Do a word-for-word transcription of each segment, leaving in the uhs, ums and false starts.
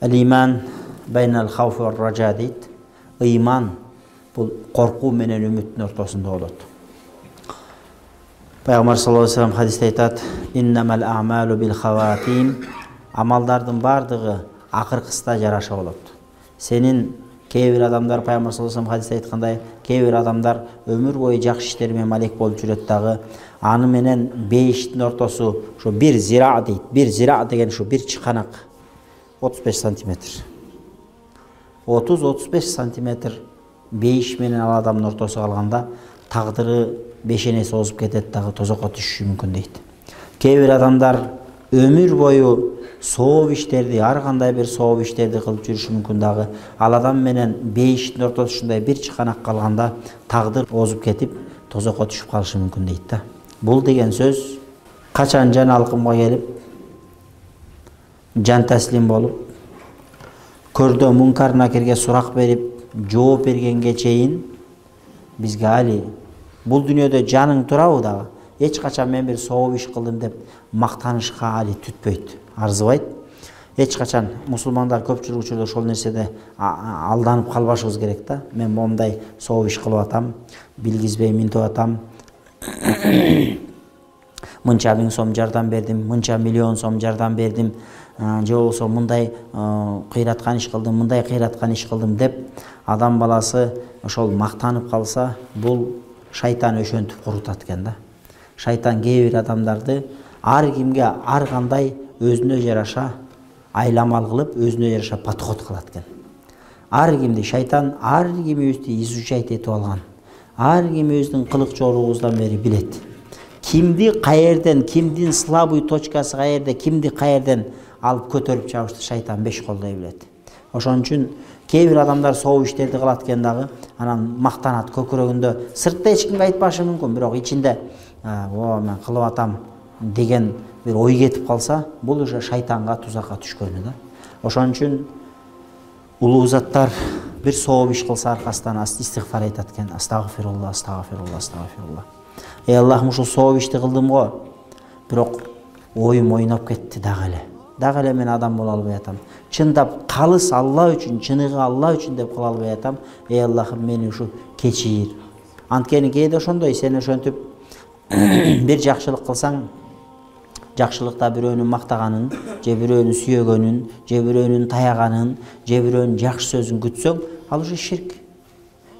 Al-iman baynal khawfi var raja дейт. Ыйман бул коркуу менен үмүттүн ортосунда болот. Пайгамбар саллаллаху алейхи вассалам хадисте айтат: "Иннамал а'малу бил хаватим." Амалдардын бардыгы акыркыста жараша болот. Сенин кээ бир адамдар, Пайгамбар саллаллаху алейхи вассалам хадисте айткандай, кээ бир адамдар өмүр бою жакшы иштер менен малек болуп жүрөт дагы, аны менен бейиштин ортосу ушу бир зира дейт. Бир зира деген ушу бир чыканак отуз беш сантиметр. отуз отуз беш сантиметр бейиш менен ал адамдын ортосу калганда тагдыры бешенеси озуп кетет дагы, тозокко түшүшү мүмкүн дейт. Кээ бир адамдар өмүр бою сооп иштерди, ар кандай бир сооп иштерди кылып жүрүшү мүмкүн дагы, ал адам менен бейиштин ортосу ушундай бир чыканак калганда тагдыр озуп кетип, тозокко түшүп калышы мүмкүн дейт да. Бул деген сөз качан жан алкымга келип, жан таслим болуп, көрдө мункар накирге сурак берип, жооп бергенге чейин бизге али бул дүйнөдө жаның турабы дагы, эч качан мен бир сооп иш кылдым деп мактанышка али түтпөйт, арзыбайт. Эч качан мусулмандар көпчүлүк учурда ошол нерседе алданып калбашыбыз керек да. Мен момундай сооп иш кылып атам, билгизбей минтип атам. Мынча миң сом жардам бердим, мынча миллион сом жардам бердим, же болбосо мындай кыйраткан иш кылдым, мындай кыйраткан иш кылдым деп адам баласы ошол мактанып калса, бул шайтан өшөнтүп курутат экен да. Шайтан кээ бир адамдарды ар кимге ар кандай өзүнө жараша айламал кылып, өзүнө жараша подход кылат экен. Ар кимди шайтан ар кимибизди изучать этип алган. Ар кимибиздин кылык жоругубуздан бери билет. Кимди каерден, кимдин слабый точкасы каерде, кимди каерден алып көтөрүп чабышты шайтан беш колдой билет. Ошон үчүн кээ бир адамдар сооп иштерди кылат экен дагы, анан мактанат көкүрөгүндө, сыртта эч кимге айтпашы мүмкүн, бирок ичинде "О, мен кылып атам" деген бир ой кетип калса, бул уже шайтанга, тузакка түшкөнү да. Ошон үчүн улуу заттар бир сооп иш кылса аркасынан истигфар айтат экен. Астагфирулла, астагфирулла, астагфирулла. Эй Аллахым, ушул сооп ишти кылдым го, бирок оюм ойноп кетти дагы эле. Дагы эле мен адам боло албай атам. Чындап калыс Алла үчүн, чыныгы Алла үчүн деп кыла албай атам. Эй Аллахым, мени ушу кечир. Анткени кээде ошондой, сен ошентип бир жакшылык кылсаң, жакшылыкта бирөөнүн мактаганын, же бирөөнүн сүйөгөнүн, же бирөөнүн таяганын, же бирөөнүн жакшы сөзүн күтсөң, ал уже ширк.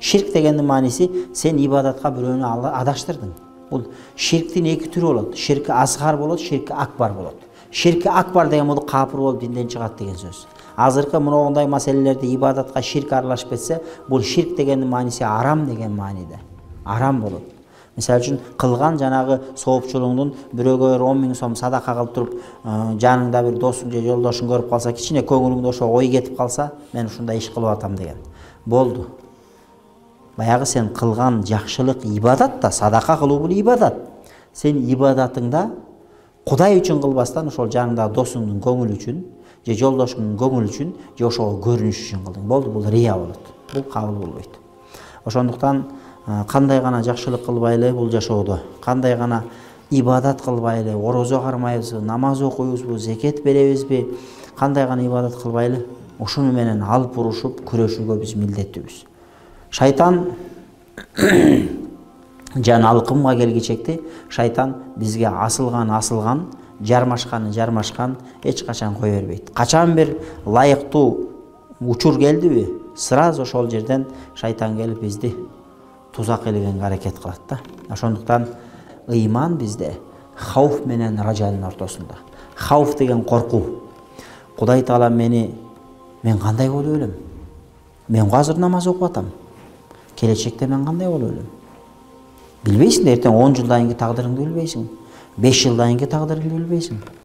Ширк дегендин мааниси сен ибадатка бирөөнү адаштырдың. Бул ширктин эки түрү болот. Ширки асгар болот, ширки акбар болот. Ширки акбар деген бул капыр болуп динден чыгат деген сөз. Азыркы мындай маселелерде ибадатка ширк аралашып кетсе, бул ширк дегендин мааниси арам деген мааниде. Арам болот. Мисалы үчүн кылган жанагы соопчулугуңдун бирөөгө он миң сом садака кылып туруп, жаныңда бир досуң же жолдошуң көрүп калса, кичине көңүлүңдө ошо ой кетип калса, мен ушундай иш кылып атам деген. Болду. Баягы сен кылган жакшылык ибадат да, садака кылуу бул ибадат. Сен ибадатыңда Кудай үчүн кылбастан ошол жаныңдагы досуңдун көңүлү үчүн, же жолдошуңдун көңүлү үчүн, же ошого көрүнүш үчүн кылдың. Болду, бул рия болот. Бул кабыл болбойт. Ошондуктан кандай гана жакшылык кылбайлы бул жашоодо, кандай гана ибадат кылбайлы, орозо кармайбызбы, намаз окуйбузбу, зекет беребизби, кандай гана ибадат кылбайлы, ушуну менен алып урушуп күрөшүүгө биз милдеттүүбүз. Шайтан жан алкымга келгичекти, шайтан бизге асылган асылган, жармашканы жармашкан, эч качан кое бербейт. Качан бир лайыктуу учур келдиби, сразу ошол жерден шайтан келип бизди тузак илгенге аракет кылат да. Ошондуктан ыйман бизде хауф менен ражанын ортосунда. Хауф деген коркуу. Кудай Таала мени мен кандай болуп өлөм? Мен азыр намаз окуп атам. Келечекте мен кандай болуп өлөм? Билбейсиң, эртең он жылдан кийинки тагдырыңды билбейсиң. беш жылдан кийинки тагдырыңды билбейсиң.